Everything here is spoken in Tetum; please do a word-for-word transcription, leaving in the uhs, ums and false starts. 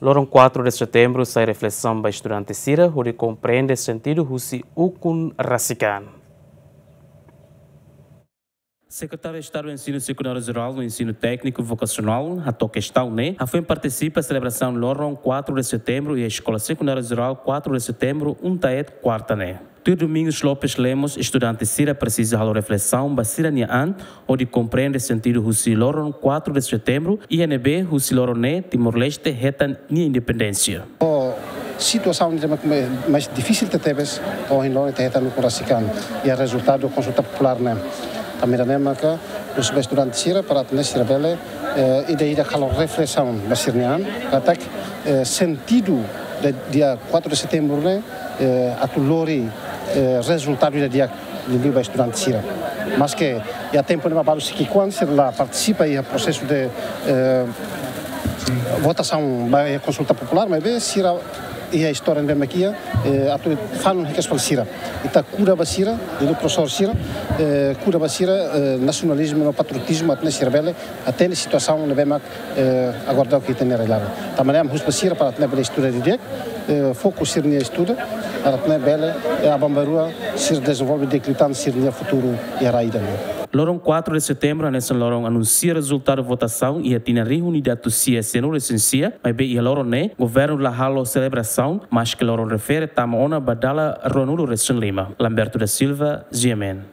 Loron quatro de setembro sai reflesaun ba estudante sira hodi komprende sentidu husi ukun rasik an. Sekretáriu Estadu Ensinu Sekundáriu Jerál no Ensinu Tékniku Vokasionál hato'o kestaun ne'e hafoin partisipa selebrasaun loron quatro de setembro iha Eskola Sekundáriu Jerál quatro de setembro UNTAET kuarta ne'e. Tuir Domingos Lopes Lemos, estudante sira presiza halo reflesaun ba sira-nia an hodi komprende sentidu husi loron quatro de setembro, iha ne'ebé husi loron ne'e Timor-Leste hetan nia independénsia. Situasaun ne'e mak mais difisil tebetebes, ohin loron ita hetan ukun rasik an iha rezultadu konsulta populár ne'e. Tanba ne'e maka husu ba estudante sira para atu nune'e sira bele, eh, ida-idak halo reflesaun ba sira-nia an, katak, eh, sentidu de dia quatro de setembro ne'e, eh, atu lori, eh, rezultadu ida di'ak liuliu ba estudante sira. Maske iha tempu ne'ebá balu sei ki'ikoan sira la partisipa iha prosesu de, eh, votasaun ba iha konsulta populár, maibé sira iha istória ne'ebé mak iha, eh, atu fanun hikas fali sira. Ita kuda ba sira, liuliu profesór sira, eh, kuda ba sira, eh, nasionalizmu no patriotizmu atu nune'e sira bele hatene situasaun ne'ebé mak, eh, agora daudaun ita-nia realidade. Tanba ne'e ami husu ba sira para atu nune'e bele estuda didi'ak, eh, foku sira-nia estuda, para atu nune'e bele, eh, aban-bainrua sira dezenvolve di'ak liután sira-nia futuru iha rai ida-ne'e. Loron quatro de setembro hanesan loron anunsia rezultadu votasaun iha tinan rihun ida atus sia sianulu-resin-sia, maibé iha loron ne'e governu la halo selebrasaun, maske loron refere tama ona ba dala ruanulu-resin-lima. Lamberto da Silva, G M N.